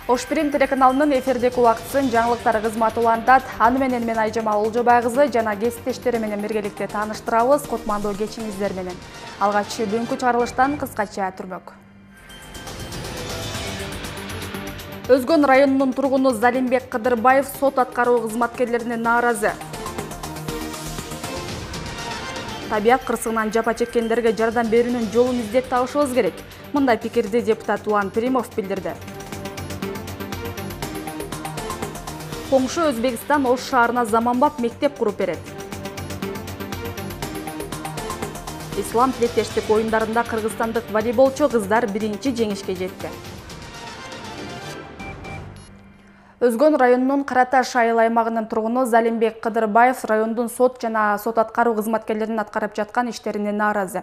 Ош Прим телеканалынын эфирдеги убактысын жаңылыктар кызматы улантат. Аны менен мен Айжамал Олжобай кызы жана кесиптештери менен биргеликте тааныштырабыз. Котмандуу кечиңиздер менен. Алгач бүгүнкү чыгарылыштан кыскача түрмөк. Өзгөн районунун тургуну Залимбек Кыдырбаев сот аткаруу кызматкерлерине нааразы. Табият кырсыгынан жапа чеккендерге жардам берүүнүн жолун издеп табышыбыз керек. Мындай пикирди депутат Улан Примов билдирди. Коңшу Өзбекстан Ош шаарына заманбап мектеп куруп берет. Ислам тилектештик оюндарында кыргызстандык волейболчу кыздар биринчи жеңишке жетти. Өзгөн районунун Караташ айыл аймагынын тургуну Залимбек Кыдырбаев райондун сот жана сот аткаруу кызматкерлеринин аткарып жаткан иштерине нааразы.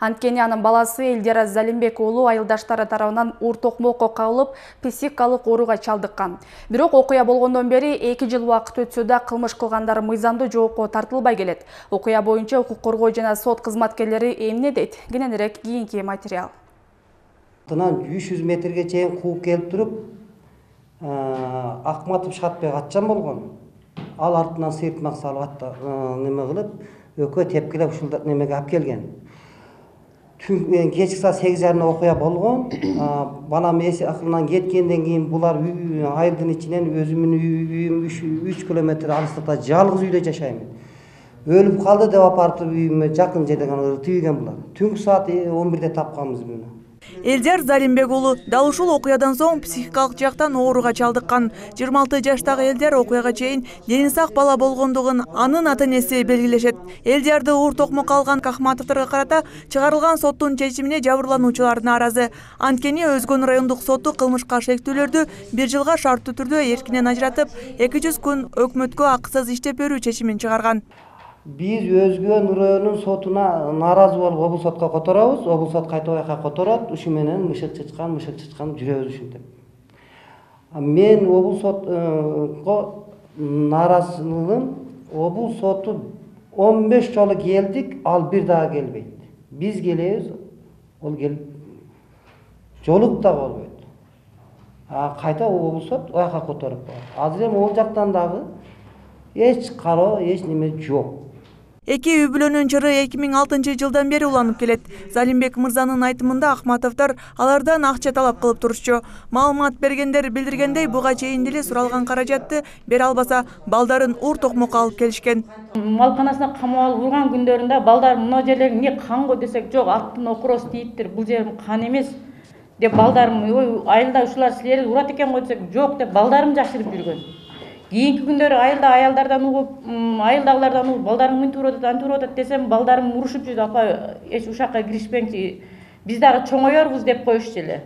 Анткени анын баласы Элдияр Залимбек уулу айылдаштары тарабынан уур токмокко кабылып, психикалык ооруга чалдыккан. Бирок окуя болгондон бери 2 жыл убакыт өтсө да кылмыш кылгандар мыйзамдуу жоопко тартылбай келет. Окуя боюнча укук коргоо жана сот кызматкерлери эмне дейт? Кененирээк кийинки материал. 300 метрге чейин кууп келип туруп, Акматов Шатбек атчан болгон. Ал артынан сыйыртмак салып неме кылып, өкө тепкилеп ушул немеге алып келген. Кечки саат 8:30 окуя болгон. Балам эси акылынан кеткенден кийин булар айылдын ичинен өзүмдүн үйүм 3 километр алыстыкта жалгыз үйдө жашайм. Өлүп калды деп апарып үйүмө жакын жерде тийген булар. Түнкү саат 11-де тапканбыз муну. Элдияр Залимбек уулу дал ушул окуядан соң психикалык жактан ооруга чалдыккан. 26 жаштагы Элдияр окуяга чейин дени сак бала болгондугун анын ата-энеси белгилешет. Элдиярды уур токмокко алган Кахматовторго карата чыгарылган соттун чечимине жабырлануучулар нааразы. Анткени Өзгөн райондук соту кылмышка шектүүлөрдү 1 жылга шарттуу түрдө эркинен ажыратып, 200 күн өкмөткө акысыз иштеп берүү чечимин чыгарган. Биз Өзгөн районунун сотуна нааразы болуп облус сотко которобуз. Облус сот кайта байка которот. Ушу менен мышык чычкан жүрөбүз ушинтип. Мен облус сотко нааразылыгым, облус соту 15 жолу келдик, ал бир дагы келбейт. Биз келебиз, ол келип жолук да болбойт. Кайта облус сот аяка которуп коет. Азыр эми ол жактан дагы эч кароо, эч неме жок. Эки үй бүлөнүн чыры 2006 жылдан бери уланып келет. Залимбек мырзанын айтымында Акматовдор алардан акча талап кылып турушчу. Маалымат бергендер билдиргендей, буга чейин деле суралган каражатты бере албаса, балдарын уур токмокко алып келишкен. Малканасына камап алып урган күндөрүндө балдар мына жерлер эмне канго десек, жок, аттын окуроз тийиптир, бул жерим кан эмес деп балдарым, ой, айылда ушулар силерди урат экен го десек, жок деп балдарым жашырып жүргөн. Кийинки күндөрү айылда аялдардан угуп, айылдагылардан угуп, балдарың мынтип атат десем, балдарым урушуп жүрдү, апа, эч ушакка киришпеңчи, биз дагы чоңоёрбуз деп коюшчу эле.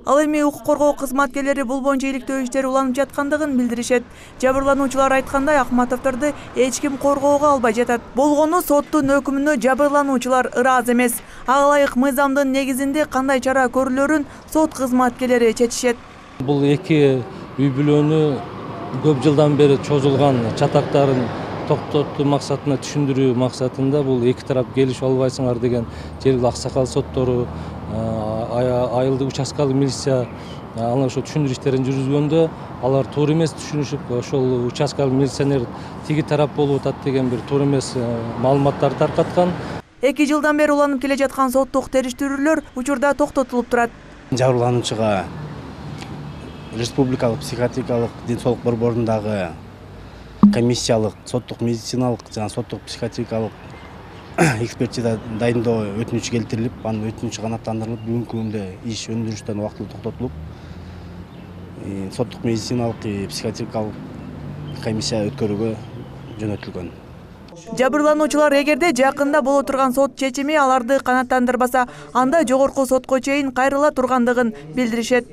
Ал эми укук коргоо кызматкерлери бул боюнча иликтөө иштери уланып жаткандыгын билдиришет. Жабырлануучулар айткандай, Акматовдорду эч ким коргоого албай жатат. Болгону соттун өкүмүнө жабырлануучулар ыраазы эмес. Ага ылайык мыйзамдын негизинде кандай чара көрүлөрүн сот кызматкерлери чечишет. Бул эки үй бүлөнү көп жылдан бери чозулган чатактарын токтотуу максатына түшүндүрүү максатында бул эки тарап келишип албайсыңар деген жергиликтүү аксакал соттору, айылдык участкалык милиция аны ошо түшүндүрүү иштерин жүргүзгөндө алар туура эмес түшүнүшүп, ошол участкалык милиционер тиги тарап болуп атат деген бир туура эмес маалыматтарды таркаткан. 2 жылдан бери уланып келе жаткан соттук териштирүүлөр учурда токтотулуп турат. Жабырлануучуга Республикалык психиатрикалык ден соолук борборундагы комиссиялык, соттук медициналык жана соттук психиатрикалык экспертиза дайындоо өтүнүч келтирилип, анын өтүнүчү канааттандырылып, бүгүнкү күндө иш өндүрүштөн убактылуу токтотулуп, соттук медициналык, психиатрикалык комиссия өткөрүүгө жөнөтүлгөн. Жабырлануучулар эгерде жакында боло турган сот чечими аларды канааттандырбаса, анда жогорку сотко чейин кайрыла тургандыгын билдиришет.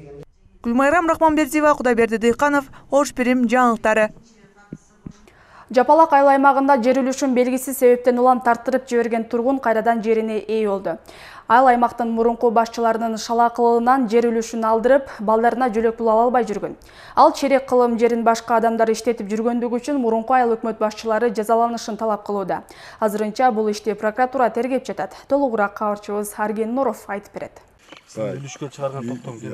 Гүлмайрам Рахманбердиева, Кудайберди Дыйканов, Ош Прим жаңылыктары. Жапалак айыл аймагында жер үлүшүн белгисиз себептен улам тарттырып жиберген тургун кайрадан жерине ээ болду. Айыл аймактын мурунку башчыларынын шалакылыгынан жер үлүшүн алдырып, балдарына жөлөк пул ала албай жүргөн. Ал черек кылым жерин башка адамдар иштетип жүргөндүгү үчүн мурунку айыл өкмөт башчылары жазаланышын талап кылууда. Азырынча бул ишти прокуратура тергеп жатат. Толугураак кабарчыбыз Арген Нуров айтып берет. Үлүшкө чыгарган токтом ким?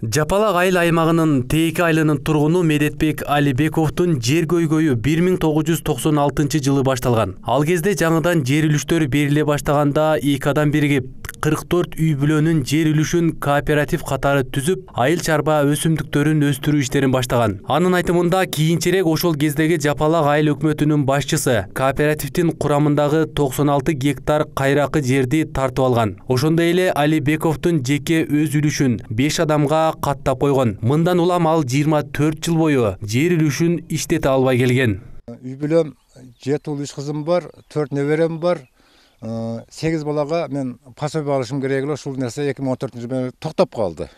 Жапалак айыл аймагынын Тейки айылынын тургуну Медетбек Алибековдун жер көйгөйү 1996 жылы башталган. Ал кезде жаңыдан жер үлүштөрү бериле баштаганда эки адам биригип 44 үй бүлөнүн жер үлүшүн кооператив катары түзүп, айыл чарба өсүмдүктөрүн өстүрүү иштерин баштаган. Анын айтымында кийинчерээк ошол кездеги Жапалак айыл өкмөтүнүн башчысы кооперативдин курамындагы 96 гектар кайракы жерди тартып алган. Ошондой эле Алибековдун жеке өз үлүшүн 5 адамга каттап койгон. Мындан улам ал 24 жыл бою жер үлүшүн иштете албай келген. Үй бүлөм 7 уул 3 кызым бар, 4 неберем бар. 8 балага мен пособие алышым керек эле, ушул нерсе 2014-жылы токтоп калды.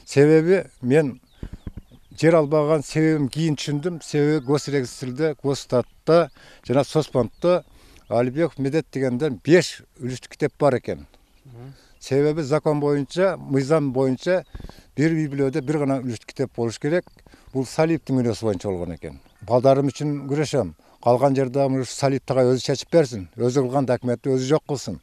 Себеби мен жер албаган себебим кийин түшүндүм. Себеби госрегистрде, госстатта жана Соспонтто Алибеков Медет дегенден 5 үлүштүк китеп бар экен. Себеби закон боюнча, мыйзам боюнча бир үй бүлөдө бир гана үлүштүк китеп болуш керек. Бул Салиевдин мүнөзү боюнча болгон экен. Балдарым үчүн күрөшөм. Калган жерде Салиев тагай өзү чечип берсин. Өзү кылган документти өзү жок кылсын.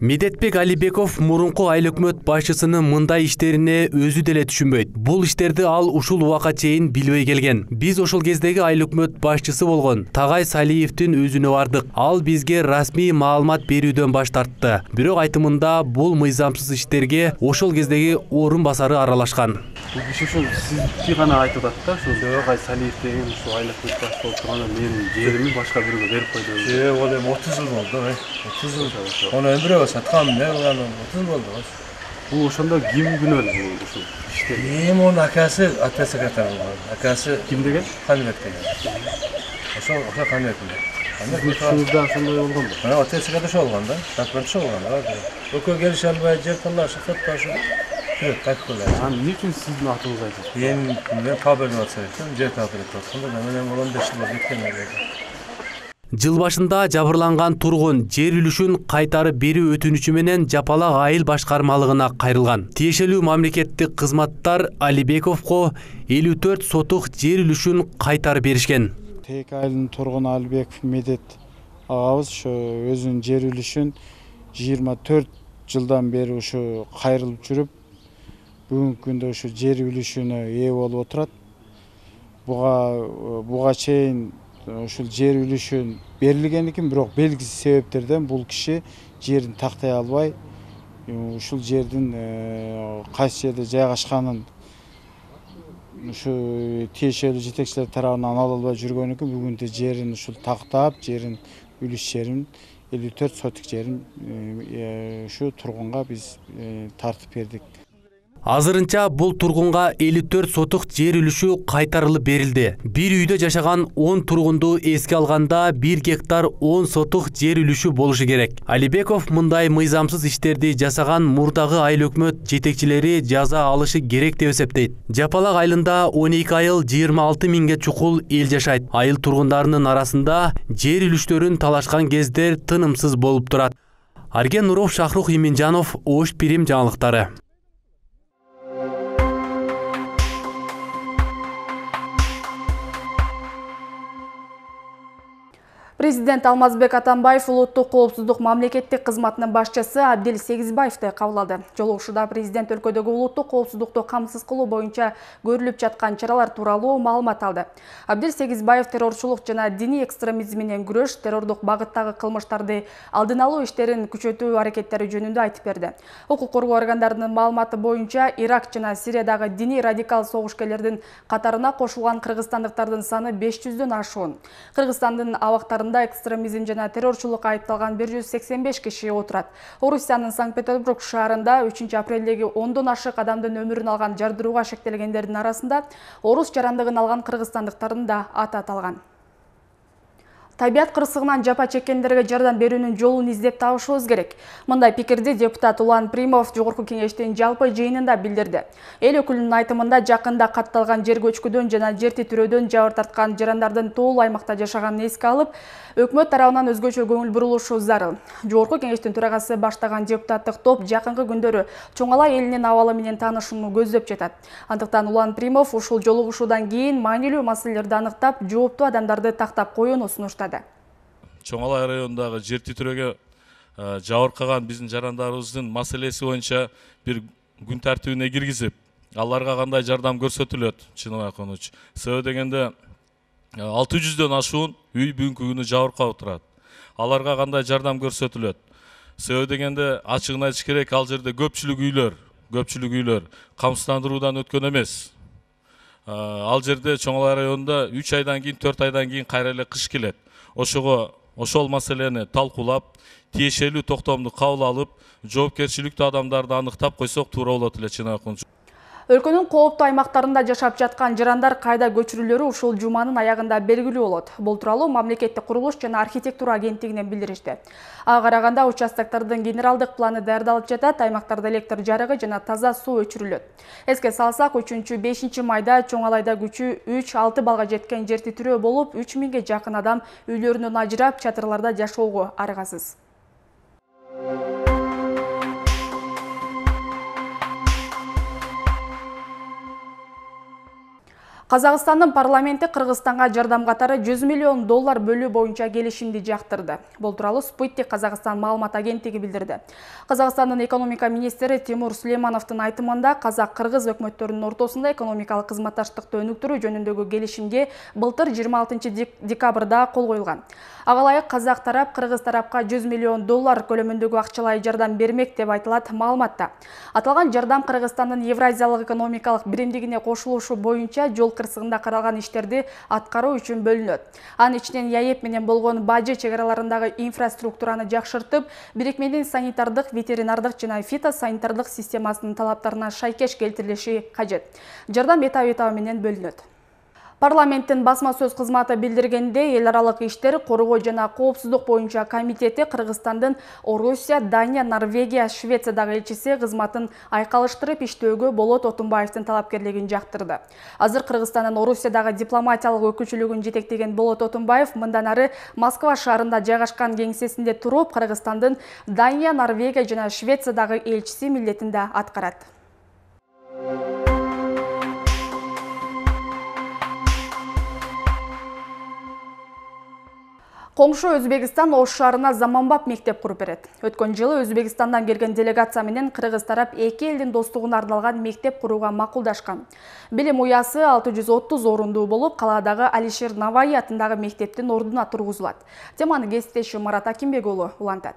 Медетбек Алибеков мурунку айыл өкмөт башчысынын мындай иштерине өзү деле түшүнбөйт. Бул иштерди ал ушул убакка чейин билбей келген. Биз ошол кездеги айыл өкмөт башчысы болгон Тагай Салиевдин өзүнө бардык. Ал бизге расмий маалымат берүүдөн баш тартты. Бирок айтымында бул мыйзамсыз иштерге ошол кездеги орун басары аралашкан. Бул киши ушул сизди гана айтып атат да, ушул Тагай Салиев деген ушул айыл өкмөт башчысы болуп турганда менин жеримди башка бирөөгө берип койду. Ол эми 30 жыл болду, 30 жыл. Бирөө саткан, мен 30 болду. Бул ошондо ким күнөөлүү ушул иште? Мунун акасы ата секретарь болгон. Акасы ким деген? Каныбек деген. Ошол Каныбек деген. Ушунда ошондой болгонбу? Мына ата секретарь ошо болгон да. Документ ошо болгон да. Экөө келише албай жер талашып, сотташып. Жүрөт кайтып келет. Эмне үчүн сиздин атыңызды айтат? Мен кабелин атсам, жер кабелин атсам, мен 15 жыл кеткен. Жыл башында жабырланган тургун жер үлүшүн кайтарып берүү өтүнүчү менен Жапалак айыл башкармалыгына кайрылган. Тиешелүү мамлекеттик кызматтар Алибековго 54 сотук жер үлүшүн кайтарып беришкен. Тейки айылынын тургуну Алибеков Медет агабыз ошо өзүнүн жер үлүшүн 24 жылдан бери ушу кайрылып жүрүп, бүгүнкү күндө ушу жер үлүшүнө ээ болуп отурат. Буга чейин ушул жер үлүшүн берилген экен, бирок белгисиз себептерден бул киши жерин тактай албай, ушул жердин кайсы жерде жайгашканын ушу тиешелүү жетекчилер тарабынан ала албай жүргөн экен. Бүгүндө жерин ушул тактап, жерин үлүш жерин 54 сотик жерин ушу тургунга биз тартып бердик. Азырынча бул тургунга 54 сотук жер үлүшү кайтарылып берилди. Бир үйдө жашаган 10 тургунду эске алганда 1 гектар 10 сотук жер үлүшү болушу керек. Алибеков мындай мыйзамсыз иштерди жасаган мурдагы айыл өкмөт жетекчилери жаза алышы керек деп эсептейт. Жапалак айылында 12 айыл 26 миңге чукул эл жашайт. Айыл тургундарынын арасында жер үлүштөрүн талашкан кездер тынымсыз болуп турат. Арген Нуров, Шахрух Иминжанов, Ош Пирим жаңылыктары. Президент Алмазбек Атамбаев улуттук коопсуздук мамлекеттик кызматынын башчысы Абдил Сегизбаевди кабыл алды. Жолугушууда президент өлкөдөгү улуттук коопсуздукту камсыз кылуу боюнча көрүлүп жаткан чаралар тууралуу маалымат алды. Абдил Сегизбаев террорчулук жана диний экстремизм менен күрөш, террордук багыттагы кылмыштарды алдын алуу иштерин күчөтүү аракеттери жөнүндө айтып берди. Укук коргоо органдарынын маалыматы боюнча Ирак жана Сириядагы диний радикал согушкерлердин катарына кошулган кыргызстандыктардын саны 500дөн ашуун. Кыргызстандын абактарында экстремизм жана террорчулук айыпталган 185 киши отурат. Орусиянын Санкт-Петербург шаарында 3 апрелдеги 10дон ашык адамдын өмүрүн алган жардырууга шектелгендердин арасында орус жарандыгын алган кыргызстандыктардын да аты аталган. Табият кырсыгынан жапа чеккендерге жардам берүүнүн жолун издеп табышыбыз керек. Мындай пикирди депутат Улан Примов Жогорку кеңештин жалпы жыйынында билдирди. Эл өкүлүнүн айтымында жакында катталган жер көчкүдөн жана жер титирөөдөн жабыр тарткан жарандардын тоол аймакта жашаганын эске алып, өкмөт тарабынан өзгөчө көңүл бурулушу зарыл. Жогорку кеңештин төрагасы баштаган депутаттык топ жакынкы күндөрү Чоң Алай элинин абалы менен таанышууну көздөп жатат. Андыктан Улан Примов ушул жолугушуудан кийин маанилүү маселелерди аныктап, жооптуу адамдарды тактап коюуну сунуштады. Чоң Алай районундагы жер титирөөгө жабыркаган биздин жарандарыбыздын маселеси боюнча бир күн тартибине киргизип, аларга кандай жардам көрсөтүлөт, чынын айтканычы. Себеби дегенде 600дөн ашуун үй бүгүнкү күнү жабыркап турат. Аларга кандай жардам көрсөтүлөт? Себеби дегенде ачыгын айтыш керек, ал жерде көпчүлүк үйлөр камсыздандыруудан өткөн эмес. Ал жерде Чоңалай районунда 3 айдан кийин, 4 айдан кийин кайра эле кыш келет. Ошол маселени талкуулап, тиешелүү токтомду кабыл алып, жоопкерчиликтүү адамдарды аныктап койсок туура болот эле, чын айтканда. Өлкөнүн кооптуу аймактарында жашап жаткан жарандар кайда көчүрүлөрү ушул жуманын аягында белгилүү болот. Бул тууралуу Мамлекеттик курулуш жана архитектура агенттигинен билдиришти. Ага караганда участоктордун генералдык планы даярдалып жатат, аймактарда электр жарыгы жана таза суу өчүрүлөт. Эске салсак, 3-5 майда Чоңалайда күчү 3-6 балга жеткен жер титирөө болуп, 3000ге жакын адам үйлөрүнөн ажырап, чатырларда жашоого аргасыз. Казакстандын парламенти Кыргызстанга жардам катары $100 миллион бөлүү боюнча келишимди жактырды. Бул тууралуу Спутник Казакстан маалымат агенттиги билдирди. Казакстандын экономика министри Тимур Сулеймановдун айтымында, казак-кыргыз өкмөттөрүнүн ортосунда экономикалык кызматташтыкты өнүктүрүү жөнүндөгү келишимге былтыр 26 декабрда кол коюлган. Ага ылайык казак тарап кыргыз тарапка $100 миллион көлөмүндөгү акчалай жардам бермек деп айтылат маалыматта. Аталган жардам Кыргызстандын Евразиялык экономикалык биримдигине кошулушу боюнча жол кырсыгында каралган иштерди аткаруу үчүн бөлүнөт. Анын ичинен ЯЭП менен болгон бажы чек араларындагы инфраструктураны жакшыртып, бирикменин санитардык, ветеринардык жана фитосанитардык системасынын талаптарына шайкеш келтирилиши кажет. Жардам этап менен бөлүнөт. Парламенттин басма сөз кызматы билдиргенде, эл аралык иштер, коргоо жана коопсуздук боюнча комитети Кыргызстандын Орусия, Дания, Норвегия, Швециядагы элчиси кызматын айкалыштырып иштөөгө Болот Отунбаевдин талапкерлигин жактырды. Азыр Кыргызстандын Орусиядагы дипломатиялык өкүлчүлүгүн жетектеген Болот Отунбаев мындан ары Москва шаарында жайгашкан кеңсесинде туруп, Кыргызстандын Дания, Норвегия жана Швециядагы элчиси милдетин аткарат. Коңшу Өзбекстан Ош шаарына заманбап мектеп куруп берет. Өткөн жылы Өзбекстандан келген делегация менен кыргыз тарап эки элдин достугуна арналган мектеп курууга макулдашкан. Билим уясы 630 орундуу болуп, калаадагы Алишер Наваи атындагы мектептин ордуна тургузулат. Теманы кесиптешим Марат Акимбек уулу улантат.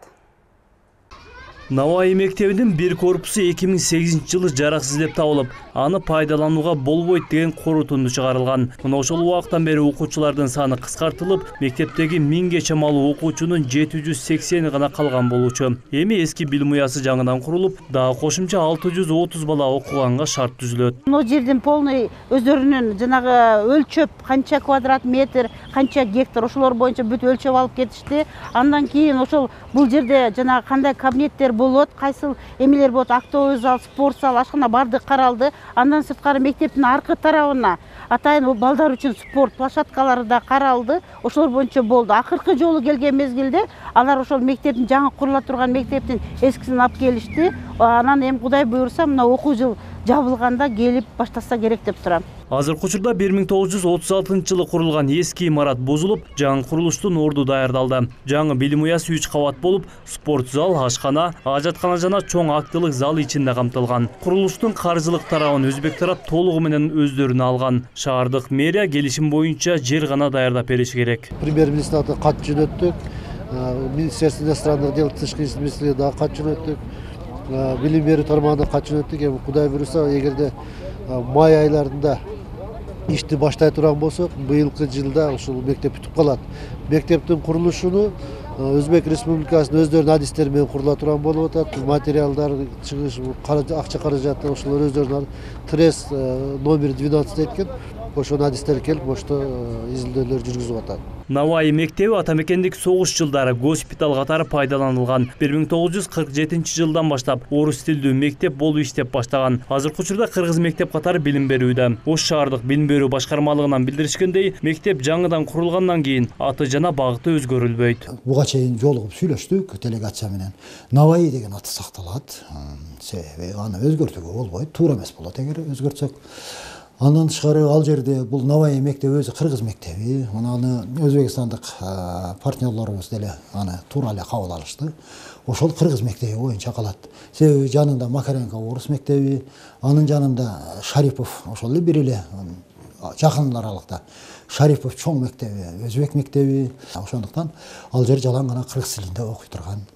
Наваи мектебинин бир корпусу 2008 жылы жараксыз деп табылып, аны пайдаланууга болбойт деген корутунду чыгарылган. Мына ошол убактан бери окуучулардын саны кыскартылып, мектептеги 1000ге чамалуу окуучунун 780 гана калган болчу. Эми эски билим уясы жаңыдан курулуп, дагы кошумча 630 бала окуганга шарт түзүлөт. Бул жердин полный өздөрүнүн жанагы өлчөп, канча квадрат метр, канча гектар ошолор боюнча бүт өлчөп алып кетишти. Андан кийин ошол бул жерде жанагы кандай кабинеттер болот, кайсыл эмелер болот, актовый зал, спорт зал, ашкана бардык каралды. Андан сырткары мектептин аркы тарабына атайын балдар үчүн спорт площадкалары да каралды. Ошолор боюнча болду. Акыркы жолу келген мезгилде алар ошол мектептин жаңы курула турган мектептин эскисин алып келишти. Анан эми Кудай буйруса мына окуу жыл жабылганда келип баштаса керек деп турам. Азыркы учурда 1936 жылы курулган эски имарат бузулуп, жаңы курулуштун орду даярдалды. Жаңы билим уясы 3 кабат болуп, спорт зал, ашкана, ажаткана жана чоң актылык зал ичинде камтылган. Курулуштун каржылык тарабын өзбек тарап толугу менен өздөрүнө алган. Шаардык мэрия келишим боюнча жер гана даярдап бериши керек. Премьер-министрге кат жөнөттүк, Министерство иностранных дел, тышкы иштер министрлигине дагы кат жөнөттүк, билим берүү тармагына кат жөнөттүк. Эми Кудай буйруса, эгерде май айларында ишти баштай турган болсок, быйылкы жылда ушул мектеп бүтүп калат. Мектептин курулушуну Өзбек Республикасынын өздөрүнүн адистери менен курула турган болуп атат. Материалдар, чыгыш, акча каражаты ошолор өздөрүнүн трес номер 12 экен. Ошонун адистери келип, ошто изилдөөлөр жүргүзүп атат. Наваи мектеби атамекендик согуш жылдары госпиталь катары пайдаланылган. 1947 жылдан баштап орус тилдүү мектеп болуп иштеп баштаган. Азыркы учурда кыргыз мектеп катары билим берүүдө. Ош шаардык билим берүү башкармалыгынан билдиришкендей, мектеп жаңыдан курулгандан кийин аты жана багыты өзгөрүлбөйт. Буга чейин жолугуп сүйлөштүк делегация менен. Наваи деген аты сакталат. Себеби аны өзгөртүүгө болбойт, туура эмес болот эгер өзгөртсөк. Андан тышкары ал жерде бул Навай мектеби өзү кыргыз мектеби. Аны өзбекстандык партнерлорубуз деле аны туура эле кабыл алышты. Ошол кыргыз мектеби боюнча калат. Себеби жанында Макаренко орус мектеби, анын жанында Шарипов ошол эле бир эле жакын аралыкта. Шарипов чоң мектеби, өзбек мектеби. Ошондуктан ал жер жалаң гана кыргыз тилинде окуй турган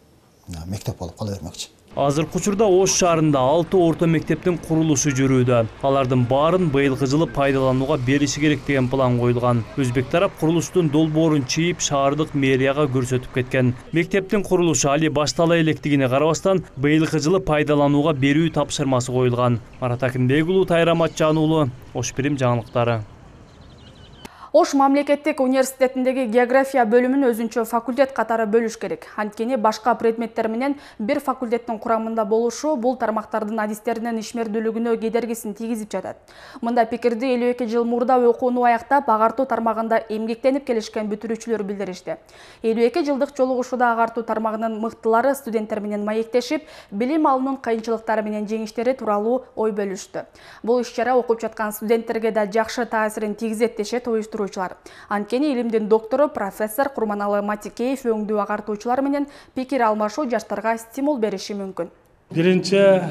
мектеп болуп кала бермекчи. Азыркы учурда Ош шаарында 6 орто мектептин курулушу жүрүүдө. Алардын баарын быйылкы жылы пайдаланууга бериши керек деген план коюлган. Өзбек тарап курулуштун долбоорун чийип, шаардык мэрияга көрсөтүп кеткен. Мектептин курулушу али баштала электигине карабастан, быйылкы жылы пайдаланууга берүү тапшырмасы коюлган. Марат Акинбек уулу, Тайра Матчан уулу, Ош Бирим жаңылыктары. Ош мамлекеттик университетиндеги география бөлүмүн өзүнчө факультет катары бөлүш керек. Анткени башка предметтер менен бир факультеттин курамында болушу бул тармактардын адистеринин ишмердүүлүгүнө кедергисин тийгизип жатат. Мында пикирди 52 жыл мурда окууну аяктап, агартуу тармагында эмгектенип келишкен бүтүрүүчүлөр билдиришти. 52 жылдык жолугушууда агартуу тармагынын мыктылары студенттер менен маектешип, билим алуунун кыйынчылыктары менен жеңиштери тууралуу ой бөлүштү. Бул иш-чара окуп жаткан студенттерге да жакшы таасирин тийгизет дешет уюштуруучулар. Анткени илимдин доктору профессор Курманалы Матикеев өңдүү агартуучулар менен пикир алмашуу жаштарга стимул бериши мүмкүн. Биринчи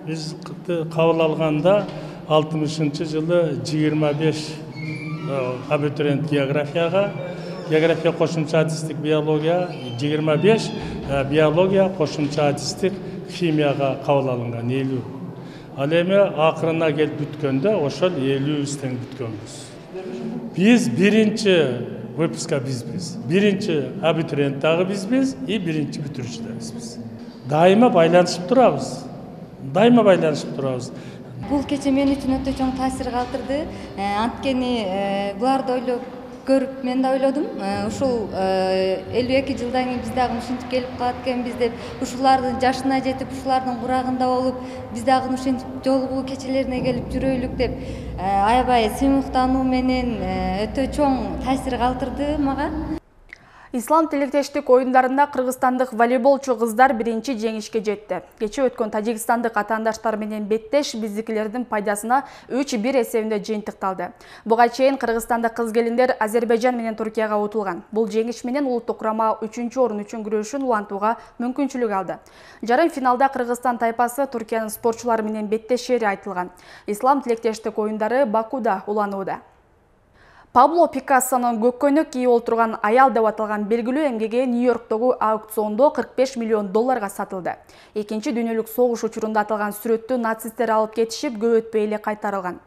биз кабыл алганда 60-жылы 25 абитуриент география кошумча адистик биология, 25 биология кошумча адистик химияга кабыл алынган 50. Ал эми акырына келип бүткөндө ошол 50 тең бүткөнбүз. Биз биринчи выпуска бизбиз, биринчи абитуриент дагы бизбиз и биринчи бүтүрүүчү да бизбиз. Дайыма байланышып турабыз. Бул кече мен үчүн өтө чоң таасир калтырды. Анткени буларды ойлоп көрүп мен да ойлодум. Ушул 52 жылдан кийин биз дагы ушинтип келип калат экенбиз деп, ушулардын жашына жетип, ушулардын курагында болуп, биз дагы ушинтип жолугуу кечелерине келип жүрөйлүк деп аябай сыймыктануу менен өтө чоң таасир калтырды мага. Ислам тилектештик оюндарында кыргызстандык волейболчу кыздар биринчи жеңишке жетти. Кече өткөн тажикстандык атаандаштар менен беттеш биздикилердин пайдасына 3-1 эсебинде жыйынтыкталды. Буга чейин кыргызстандык кыз-келиндер Азербайжан менен Туркияга утулган. Бул жеңиш менен улуттук курама 3-орун үчүн күрөшүн улантууга мүмкүнчүлүк алды. Жарым финалда Кыргызстан тайпасы Туркиянын спортчулары менен беттешери айтылган. Ислам тилектештик оюндары Бакуда уланууда. Пабло Пикассонун көккөнүк кийип отурган аял деп аталган белгилүү эмгеги Нью-Йорктогу аукциондо $45 миллион сатылды. Экинчи дүйнөлүк согуш учурунда аталган сүрөттү нацисттер алып кетишип, көп өтпөй эле кайтарылган.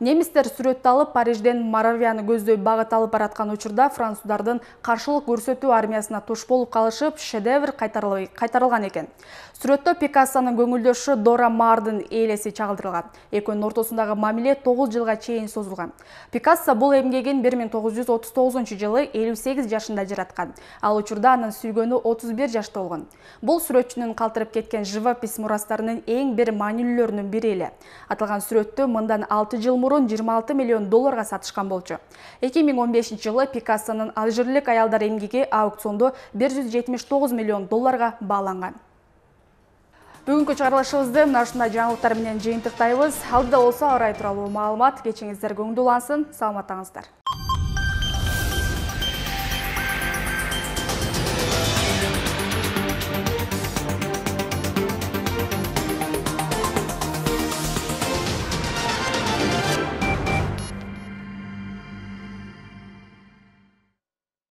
Немистер сүрөттү алып Парижден Моравияны көздөй багыт алып бараткан учурда француздардын каршылык көрсөтүү армиясына туш болуп калышып, шедевр кайтарылган экен. Сүрөттө Пикассонун көңүлдөшү Дора Мардын ээлеси чагылдырылган. Экөөнүн ортосундагы мамиле 9 жылга чейин созулган. Пикассо бул эмгегин 1939-жылы 58 жашында жараткан. Ал учурда анын сүйгөнү 31 жашта болгон. Бул сүрөтчүнүн калтырып кеткен живопись мурастарынын эң бир маанилүүлөрүнүн бири эле. Аталган сүрөттү мындан 6 жыл мурун $26 миллион сатышкан болчу. 2015-жылы Пикассонун алжирлик аялдар эмгеги аукциондо $179 миллион бааланган. Бүгүнкү чыгарылышыбызды мына ушундай жаңылыктар менен жыйынтыктайбыз. Алдыда болсо ара тууралуу маалымат. Кечиңиздер көңүлдүү улансын. Саламаттаңыздар.